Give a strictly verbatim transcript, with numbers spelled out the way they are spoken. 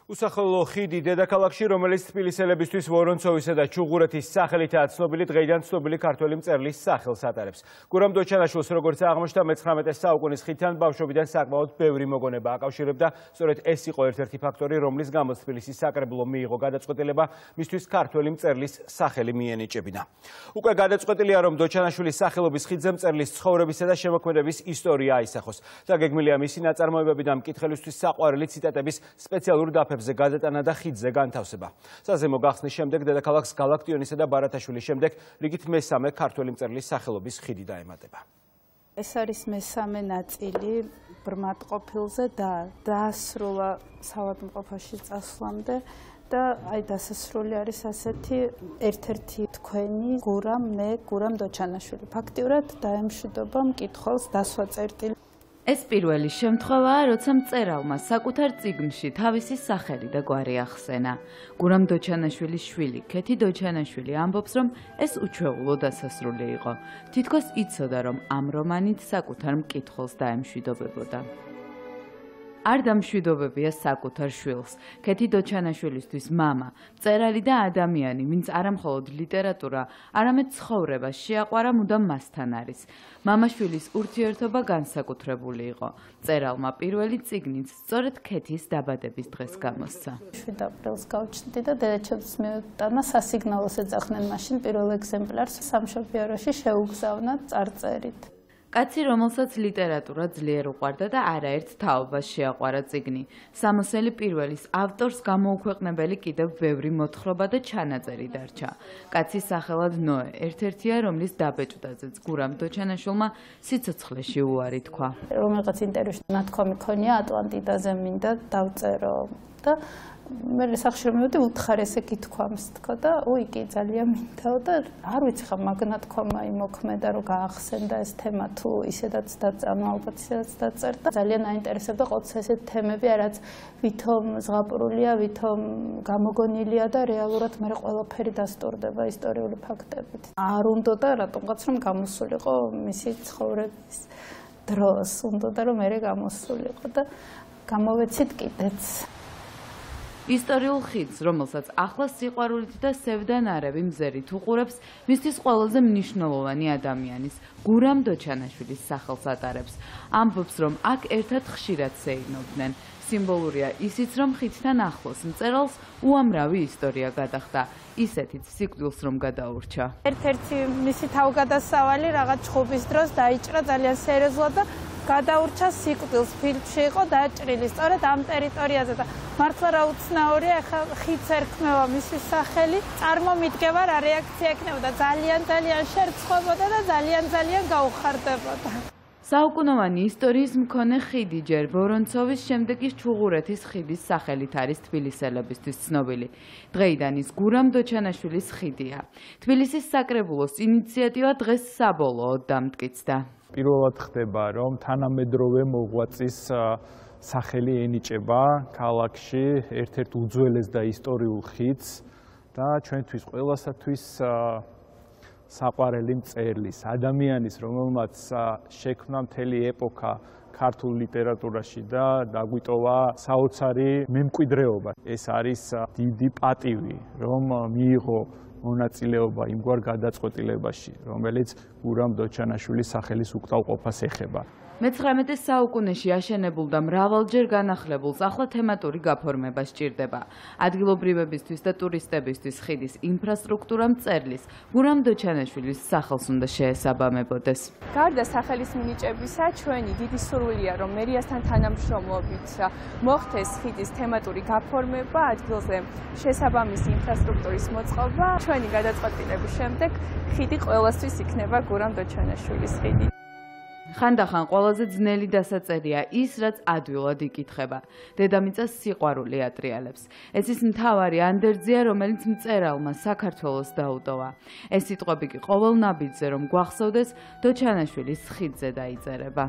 უსახელო ხიდი დედაქალაქში, რომელიც თბილისელებისთვის ვორონცოვისა და ჩუღურეთის სახელითაა ცნობილი, დღეიდან ცნობილი ქართველი მწერლის სახელს ატარებს. გურამ დოჩანაშვილს, როგორც აღმოჩნდა, მეცხრამეტე საუკუნის ხიდთან ბავშვობიდან საკმაოდ ბევრი მოგონება აკავშირებდა. სწორედ ეს იყო ერთ-ერთი ფაქტორი, რომლის გამოც თბილისის საკრებულო მიიღო გადაწყვეტილება მისთვის ქართველი მწერლის სახელი მიენიჭებინა. უკვე გადაწყვეტილია, რომ დოჩანაშვილის სახელობის ხიდზე მწერლის ცხოვრებისა და შემოქმედების ისტორია აისახოს. დაგეგმილია მისი ნაწარმოებები და მკითხველისთვის საყვარელი ციტატების სპეციალური დაფერმება გადატანა და ხიდზე განთავსება. საზემო გახსნის შემდეგ დედაქალაქს გალაქტიონისა და ბარათაშვილის შემდეგ რიგით მესამე ქართველი მწერლის სახელობის ხიდი დაემატება. ეს არის მესამე ნაწილი ბრმად ყოფილზე და დაასრულა საავადმყოფოში წასვლამდე და აი დასასრული არის ასეთი ერთ-ერთი თქვენი გურამ მე გურამ დოჩანაშვილი. ფაქტიურად დაემშვიდობა მკითხველს დასვა წერტილი. ეს პირველი შემთხვევაა, როცა მწერალმა საკუთარ წიგნში თავისი სახელი და გვარი ახსენა. გურამ დოჩანაშვილის შვილი, ქეთი დოჩანაშვილი ამბობს, რომ ეს უჩვეულო დასასრული იყო. თითქოს იცოდა, რომ ამ რომანით საკუთარ მკითხველს დაემშვიდობებოდა. არ დამშვიდობებია საკუთარ შვილს. ქეთი დოჩანაშვილისთვის მამა, მწერალი და ადამიანი, ვინც არამხოლოდ ლიტერატურა, არამედ ცხოვრება შეაყვარა, მუდამ მასთან არის. მამაშვილის ურთიერთობა განსაკუთრებული იყო. მწერალმა პირველი წიგნიც სწორედ ქეთის დაბადების დღეს გამოსცა. შვიდ აპრილს გავჩნდი და დედაჩემს მივუტანა სასიგნალოს ეძახნენ მაშინ პირველ ეგზემპლარს სამშობიაროში შეუგზავნა წარწერით. კაცი, რომელსაც ლიტერატურა ძლიერ უყვარდა და არაერთ თაობას შეაყვარა წიგნი. სამოსელი პირველის ავტორს გამოუქვეყნებელი კიდევ ბევრი მოთხრობა და ჩანაწერი დარჩა. კაცის სახელად ნოე ერთ-ერთია, რომლის დაბეჭდაზეც გურამ დოჩანაშვილმა სიცოცხლეში უარი თქვა. რომელიღაც ინტერვიუში ნათქვამი ქონია ატლანტიდაზე მინდა დავწერო და მე სახში მივედი უთხარ ესე გითქვამს თქო და უი კი ძალიან მინდაო და არ ვიცი ხა მაგნათქვამა იმოქმედა რომ გაახსენდა ეს თემა თუ ისედაც დაწანო ალბათ ისედაც დაწერდა ძალიან აინტერესებდა ყოველთვის ესეთ თემები რაც ვითომ ზღაპრულია ვითომ გამოგონილია და რეალურად მე ყველაფერი დასტურდება ისტორიული ფაქტებით არ უნდა და რატომღაც რომ გამოსულიყო მისი ცხოვრების დროს უნდა და რომ მე გამოსულიყო და გამოვეცით კიდეც ისტორიულ ხიდს, რომელსაც ახლა სიყვარულით და სევდანარევი მზერით უყურებს, მისთვის ყველაზე მნიშვნელოვანი ადამიანის, გურამ დოჩანაშვილის სახელს ატარებს. ამბობს, რომ აქ ერთად ხშირად სეირნობდნენ. სიმბოლურია ისიც, რომ ხიდთან ახლოს მწერალს უამრავი ისტორია გადახდა. ისეთიც სიკვდილს რომ გადაურჩა. ერთ-ერთი მისი თავგადასავალი რაღაც ჩხუბის დროს დაიჭრა ძალიან სერიოზულად და გადაურჩა სიკვდილს. ფილმში იყო დაჭრილი სწორედ ამ ტერიტორიაზე და მართლა რა უცნაურია, ახლა ხიდს ერქმევა მისი სახელი, წარმომიდგება რა რეაქცია ექნებოდა, ძალიან ძალიან შერწყვებოდა და ძალიან ძალიან გაუხარდებოდა. საუკუნოვანი ისტორიის მქონე ხიდი ჯერ ვორონცოვის, შემდეგ ის ჩუღურეთის ხიდის სახელით არის თბილისელებისთვის ცნობილი. დღეიდან ის გურამ დოჩანაშვილის ხიდია. თბილისის საკრებულოს ინიციატივა დღეს საბოლოოდ დამტკიცდა. პირველად ხდება, რომ თანამედროვე მოღვაწის სახელი ენიჭება ქალაქში ერთ-ერთ უძველეს და ისტორიულ ხიდს და ჩვენთვის ყველასათვის საყვარელი მწერლის, ადამიანის, რომელმაც შექმნა მთელი ეპოქა ქართულ ლიტერატურაში და დაგვიტოვა საოცარი მემკვიდრეობა. ეს არის დიდი პატივი, რომ მიიღო მონაწილეობა იმგვარ გადაწყვეტილებაში, რომელიც გურამ დოჩანაშვილის სახელის უკტავყოფას ეხება. მეცხრამეტე საუკუნეში აშენებულ და მრავალჯერ განახლებულს ახლა თემატური გაფორმება სჭირდება. ადგილობრივებისთვის და ტურისტებისთვის ხიდის ინფრასტრუქტურა მწერლის, გურამ დოჩანაშვილის სახელს უნდა შეესაბამებოდეს. გარდა სახელის მინიჭებისა, ჩვენი დიდი სურვილია, რომ მერიასთან თანამშრომლობით მოხდეს ხიდის თემატური გაფორმება, ადგილზე შესაბამისი ინფრასტრუქტურის მოწყობა. ჩვენი გადაწყვეტილების შემდეგ ხიდი ყველასთვის იქნება გურამ დოჩანაშვილის ხიდი. ხანდახან ყველაზე ძნელი დასაწერია ის, რაც ადვილად იკითხება. დედამიწას სიყვარული ატრიალებს. ეს ის მთავარი ანდერძია, რომელიც მწერალმა საქართველოს დაუტოვა. ეს სიტყვები კი ყოველ ნაბიჯზე რომ გვახსოვდეს, დოჩანაშვილის ხიდზე დაიწერება.